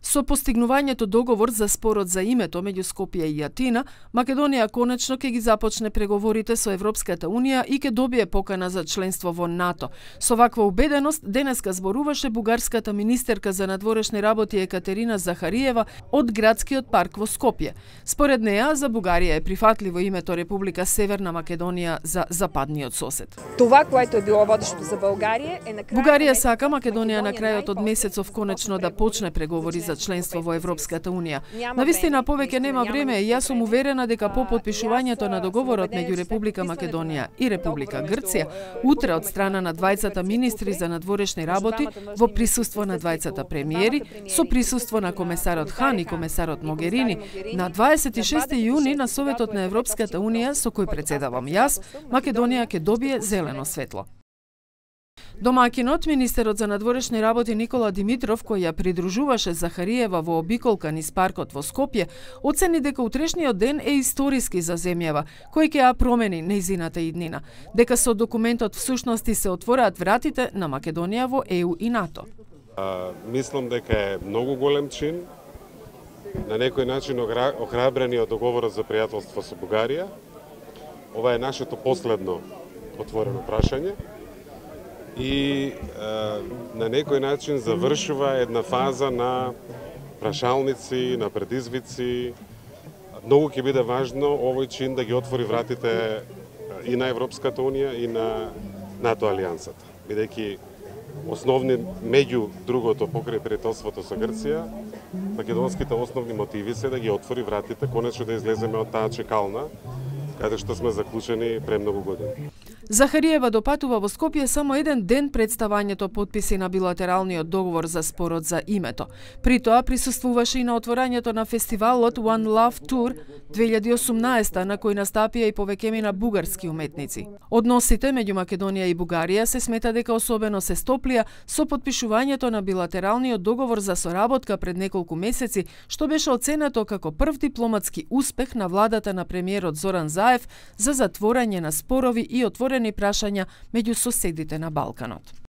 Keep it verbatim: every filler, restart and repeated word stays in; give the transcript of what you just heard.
Со постигнувањето договор за спорот за името меѓу Скопје и Атина, Македонија конечно ќе ги започне преговорите со Европската Унија и ќе добие покана за членство во НАТО. Со ваква убеденост денеска зборуваше бугарската министерка за надворешни работи Екатерина Захариева од градскиот парк во Скопје. Според неа, за Бугарија е прифатливо името Република Северна Македонија за западниот сосед. Това, което е било водещо за Бугарија е на крајот. Бугарија сака Македонија на крајот од месецов конечно да почне преговори за членство во Европската Унија. Навистина повеќе нема време и јас сум уверена дека по потпишувањето на договорот меѓу Република Македонија и Република Грција, утре од страна на двајцата министри за надворешни работи, во присуство на двајцата премиери, со присуство на комесарот Хан и комесарот Могерини, на дваесет и шести јуни на Советот на Европската Унија, со кој председавам јас, Македонија ќе добие зелено светло. Домаќинот, министерот за надворешни работи Никола Димитров, кој ја придружуваше Захариева во обиколка низ паркот во Скопје, оцени дека утрешниот ден е историски за земјава, кој ќе ја промени нејзината иднина, дека со документот всушности се отвораат вратите на Македонија во Е У и НАТО. А, мислам дека е многу голем чин, на некој начин охрабрениот договорот за пријателство со Бугарија. Ова е нашето последно отворено прашање и е, на некој начин завршува една фаза на прашалници, на предизвици. Многу ќе биде важно овој чин да ги отвори вратите и на Европската Унија и на НАТО алијансата, бидејќи основни меѓу другото покрај пријателството со Грција, македонските основни мотиви се да ги отвори вратите, конечно да излеземе од таа чекална каде што сме заклучени премногу години. Захариева допатува во Скопје само еден ден пред ставањето потписи на билатералниот договор за спорот за името. При тоа присуствуваше и на отворањето на фестивалот One Love Tour две илјади и осумнаесета, на кој настапија и повеќемина бугарски уметници. Односите меѓу Македонија и Бугарија се смета дека особено се стоплија со потпишувањето на билатералниот договор за соработка пред неколку месеци, што беше оценето како прв дипломатски успех на владата на премиерот Зоран Заев за затворање на спорови и отворени прашања меѓу соседите на Балканот.